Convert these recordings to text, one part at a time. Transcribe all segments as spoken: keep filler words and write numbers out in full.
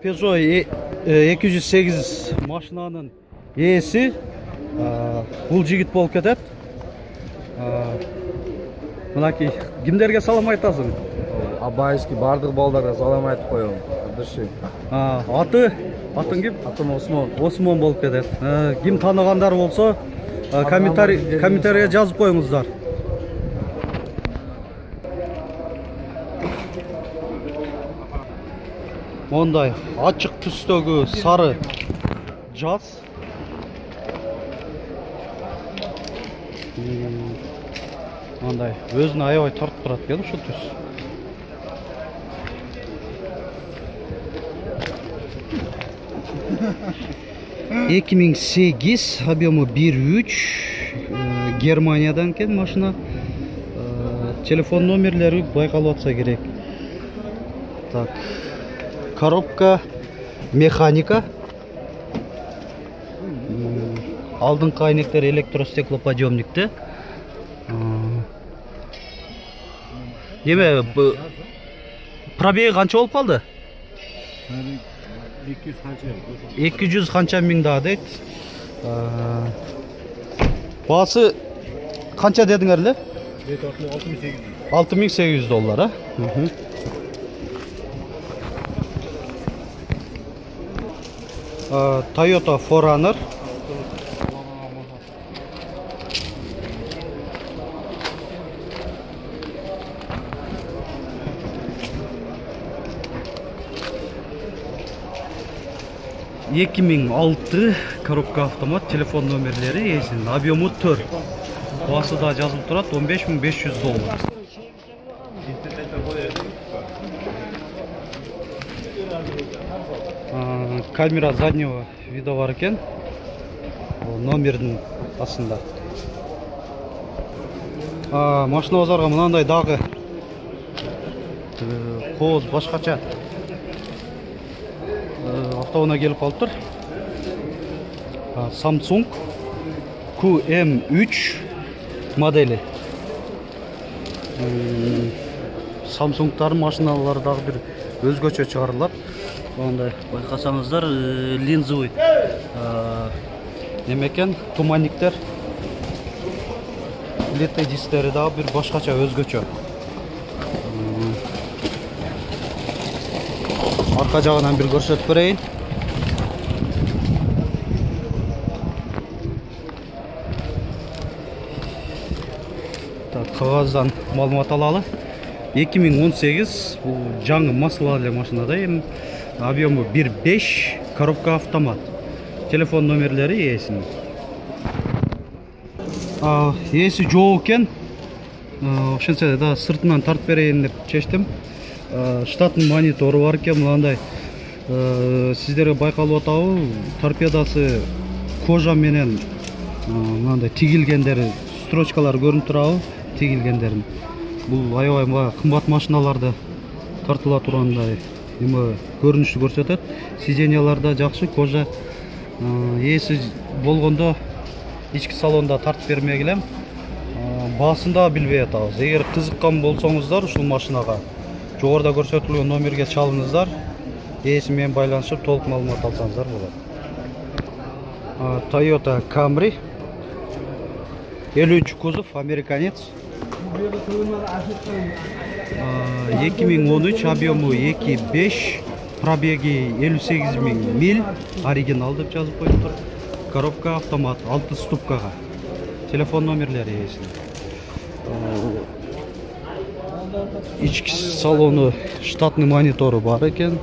Peugeot эки жүз сегиз машинанын ээси бул жигит болуп кетет. Мынакей кимдерге салам айтасың? Абайский бардык балдарга салам айтып коем. Кадыршы. Аты Атың ким? Атым Осмон. Осмон болуп кетет. Ким тааныгандар болсо комментарий комментарийге жазып коюңуздар. Мондай ачык түстөгү сары жаз. Мондай өзүнө аябай тартып турат экен ушул түс. эки миң сегиз, объему бир үч, Германиядан экен машина. Телефон номерлери байкалып атса керек. Так. Коробка механика. Алдыңкы айнектер электростеклоподъемникте. Неме пробеги канча болуп калды? эки жүз канча миң да дейт. Баасы канча дедиңер эле? алты миң сегиз жүз доллар, а? Toyota фор раннер. эки миң алты, коробка автомат, телефон номерлери эсин, объему төрт. Баасы да жазылып турат, он беш миң беш жүз доллар. Камера заднего вида бар экен. Номердин астында. Машинабазарга мынандай дагы кооз башкача автоунаа келип калыптыр. Samsung Q M үч модели. Samsung'тар машиналары дагы бир өзгөчө чыгарылат. Мындай байкасаңыздар, линзовый неме экен, туманниктер. Леттэй дисктери дагы бир башкача өзгөчө. Арка жагынан бир көрсөтүп берейин. Так, кагаздан маалымат алалы. эки миң он сегиз, бул жаңы маслалы машинада, эми объему бир беш, коробка автомат. Телефон номерлери ээсинин. Ээси жок экен. Ошентсе да сыртынан тартып берейин деп чечтим. Штаттын монитору бар экен, мындай сиздерге байкалып атабы, торпедасы кожа менен мындай тигилгендери, строчкалар көрүнүп турабы, тигилгендерин. Бул аябай кымбат машиналарды тартыла тургандай эме көрүнүштү көрсөтөт. Сиденьяларда жакшы, кожа. Ээси болгондо ички салонда тартып бермегилем. Баасын да билбей атабыз. Эгер кызыккан болсоңуздар ушул машинага жогоруда көрсөтүлгөн номерге чалыңыздар. Ээси менен байланышып толук маалымат алсаңыздар болот. Toyota Camry элүү үч кузов, американец. эки миң он үч, объему эки беш, пробеги элүү сегиз миң миль, оригинал деп жазып коюптур. Коробка автомат, алты ступкага. Телефон номерлери ээсинин. Ички салону штатный монитору бар экен.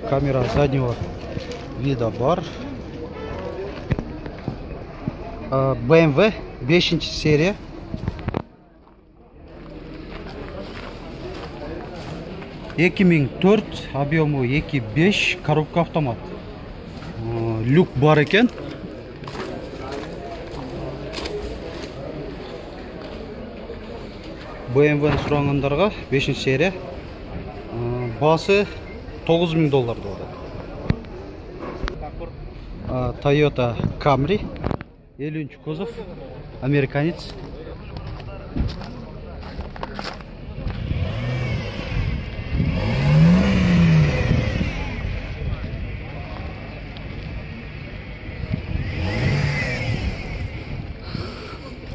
Камера заднего вида бар. бэ эм вэ бешинчи серия. эки миң төрт, объему эки беш, коробка автомат. Люк бар экен. бэ эм вэ сурагандарга бешинчи серия. Баасы тогуз миң доллар болот. Toyota Camry элүүнчү кузов, американец.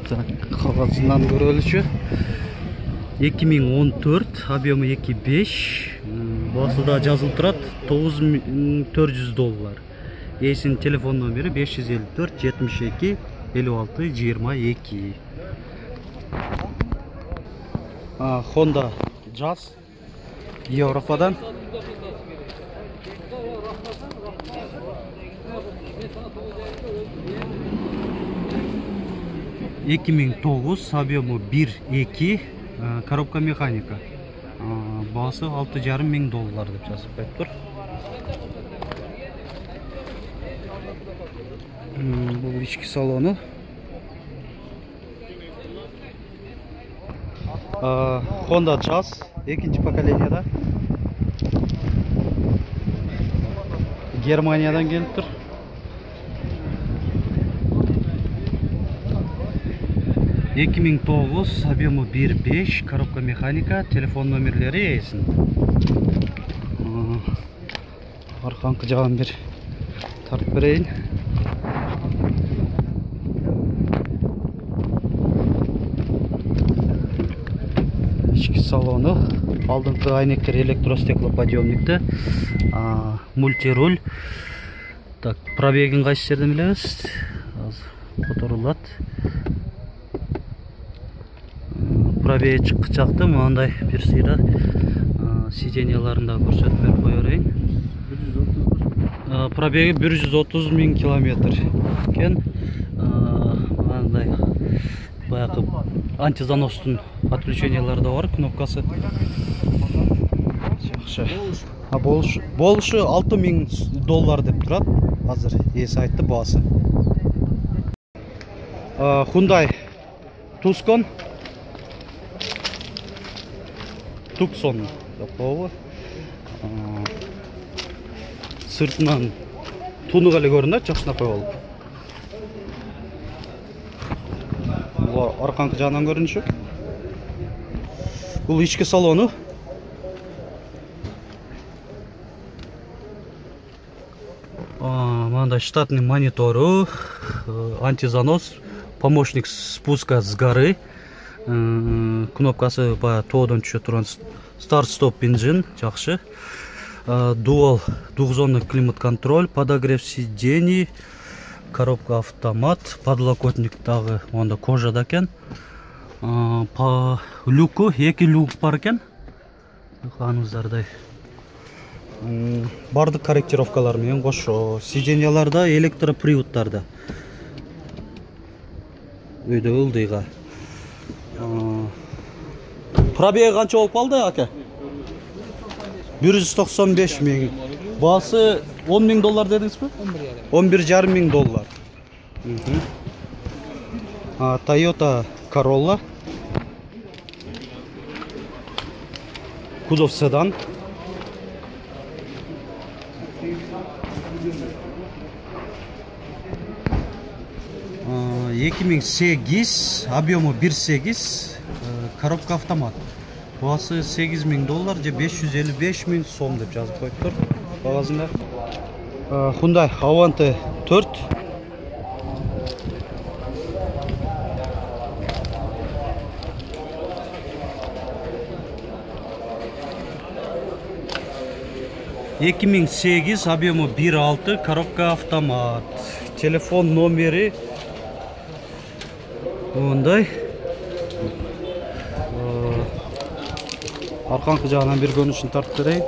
Так, кагазынан көрөлүчү. эки миң он төрт, объему эки беш. Баасы да жазылып турат, тогуз миң төрт жүз доллар. Эсинин телефон номери беш жүз элүү төрт жетимиш эки элүү алты жыйырма эки. Honda Jazz Европадан. эки миң тогуз, объему бир эки, коробка механика. Баасы алты жарым миң доллар деп жазып коюптур. Бул ички салону. Honda Jazz экинчи поколенияда. Германиядан келип тур. эки миң тогуз, объему бир беш, коробка механика, телефон номерлери эсин. Арканкы жагын бир тартып берейин. Ички салону, алдыңкы айнектер электростеклоподъемникте, мультируль. Так, пробегин кайсы жерден билебиз? Азыр которулат. Пробеги чыкчакты, мындай бир сыйра сиденьяларында көрсөтүп берип кое берейин. Пробеги бир жүз отуз миң километр экен. Мындай баягы антизаностун отключениялары да бар, кнопкасы. Жакшы. А болушу болушу алты миң доллар деп турат. Азыр эси айтты баасы. Hyundai Tucson. Tucson yapabı. Sırtından tunuq эле көрүнөт, жакшынап коюп алып. Бул арканкы жагынан көрүнүшү. Бул ички салону. Мындай штатный монитору, антизанос, помощник спуска с горы. Кнопкасы баягы тоодон түшө турган старт-стоп бензин, жакшы. Дуал двухзонный климат-контроль, подогрев сидений, коробка автомат, подлокотник дагы монда кожада экен. По люку эки люк бар экен. Байкагансыздардай. Бардык корректировкалар менен кошо. Сиденьяларда электроприводтарда. Өйдө ылдыйга. Пробеги канча болуп калды, ака? бир жүз токсон беш миң. Баасы он миң доллар дедиңизби? он бир жарым миң доллар. Toyota Corolla. Кузов седан. эки миң сегиз, объему бир сегиз, коробка автомат. Баасы сегиз миң доллар же беш жүз элүү беш миң сом деп жазып коюптур багазында. Hyundai Avante төрт. эки миң сегиз, объему бир алты, коробка автомат. Телефон номери мындай. Арканкы жагынан бир көрүнүшүн тартып берейин.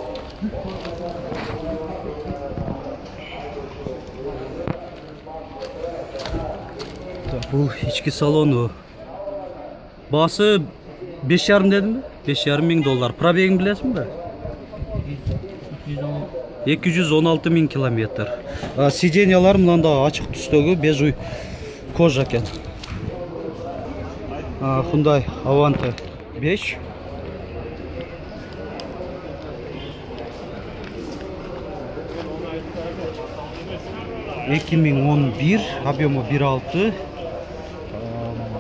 Бул ички салону. Баасы беш жарым дедимби? беш жарым миң доллар. Пробегин билесиңби? эки жүз он алты миң километр. Сиденьялар мында ачык түстөгү бежуй кожа экен. Hyundai Avante беш. эки миң он бир, объему бир алты,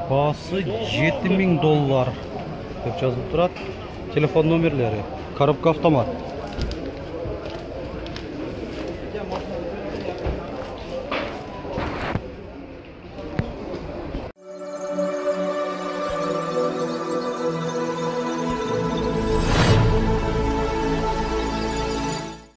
баасы жети миң доллар деп жазылып турат. Телефон номерлери, коробка автомат.